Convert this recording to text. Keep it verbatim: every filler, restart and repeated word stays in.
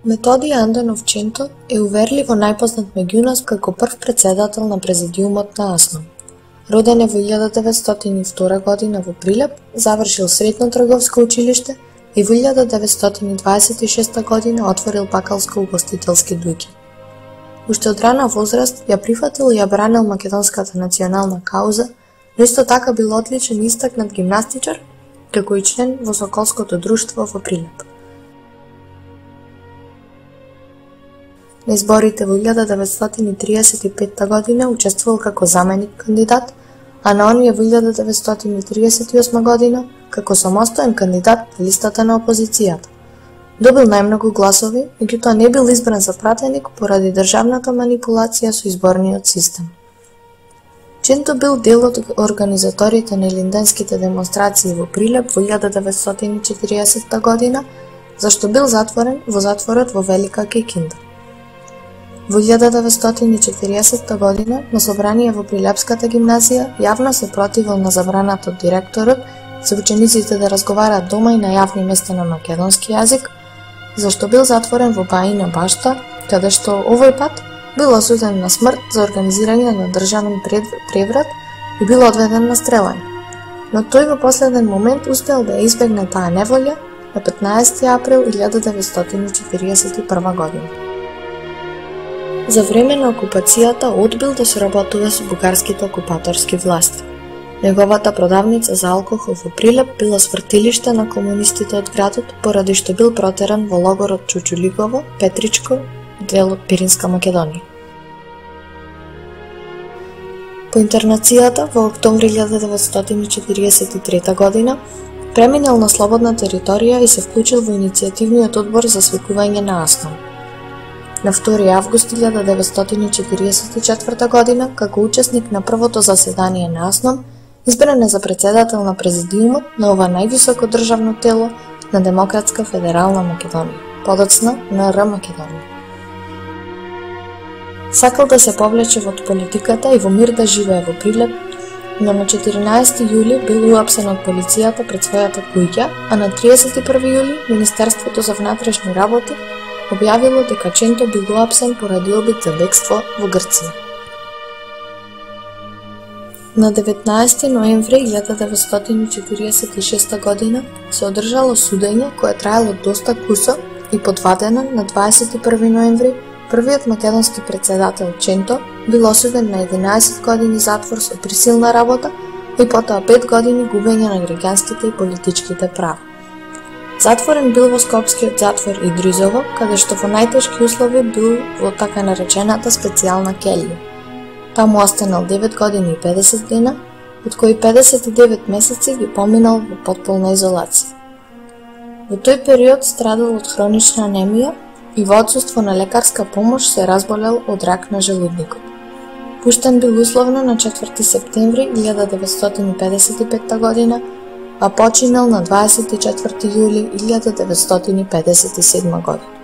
Методи Андонов Ченто е уверливо најпознат меѓу нас како прв претседател на президиумот на АСНОМ. Роден е во илјада деветстотини и втора година во Прилеп, завршил средно трговско училиште и во илјада деветстотини дваесет и шеста година отворил бакалско-угостителски дуќи. Уште од рана возраст ја прифатил и ја бранил македонската национална кауза, но исто така бил одличен и истакнат гимнастичар, како и член во Соколското друштво во Прилеп. На изборите во илјада деветстотини триесет и петта година учествувал како заменик кандидат, а на оние во илјада деветстотини триесет и осма година како самостоен кандидат на листата на опозицијата. Добил најмногу гласови, меѓутоа не бил избран за пратеник поради државната манипулација со изборниот систем. Ченто бил дел од организаторите на илинденските демонстрации во Прилеп во илјада деветстотини четириесетта година, зашто бил затворен во затворот во Велика Кикинда. Во илјада деветстотини четириесетта година на собрание во Прилепската гимназија јавно се противил на забраната од директорот за учениците да разговараат дома и на јавни места на македонски јазик, зашто бил затворен во Баина Башта, каде што овој пат бил осуден на смрт за организирање на државен преврат и бил одведен на стрелање. Но тој во последен момент успел да ја избегне таа неволја на петнаесети април илјада деветстотини четириесет и прва година. За време на окупацијата одбил да соработува со бугарските окупаторски власти. Неговата продавница за алкохол во Прилеп била свртилиште на комунистите од градот, поради што бил протеран во логорот Чучулигово, Петричко, дел од Пиринска Македонија. По интернацијата во октомври илјада деветстотини четириесет и трета година преминал на слободна територија и се вклучил во иницијативниот одбор за свикување на АСНОМ. На втори август илјада деветстотини четириесет и четврта година, како учесник на првото заседание на АСНОМ, избран е за претседател на президиумот на ова највисоко државно тело на Демократска федерална Македонија, подоцна НР Македонија. Сакал да се повлече во политиката и во мир да живее во Прилеп, но на четиринаесети јули бил уапсен од полицијата пред својата куќа, а на триесет и први јули Министерството за внатрешни работи објавило дека Ченто бил уапсен поради обид за бегство во Грција. На деветнаесети ноември илјада деветстотини четириесет и шеста година се одржало судење кое траело доста кусо и подвадено на дваесет и први ноември првиот македонски претседател Ченто бил осуден на единаесет години затвор со присилна работа и потоа пет години губење на граѓанските и политичките права. Затворен бил во Скопскиот затвор Идризово, каде што во најтешки услови бил во така наречената специјална келија. Таму останал девет години и педесет дена, од кои педесет и девет месеци ги поминал во потполна изолација. Во тој период страдал од хронична анемија и во отсуство на лекарска помош се разболел од рак на желудникот. Пуштен бил условно на четврти септември илјада деветстотини педесет и петта година, а починал на дваесет и четврти јули илјада деветстотини педесет и седма година.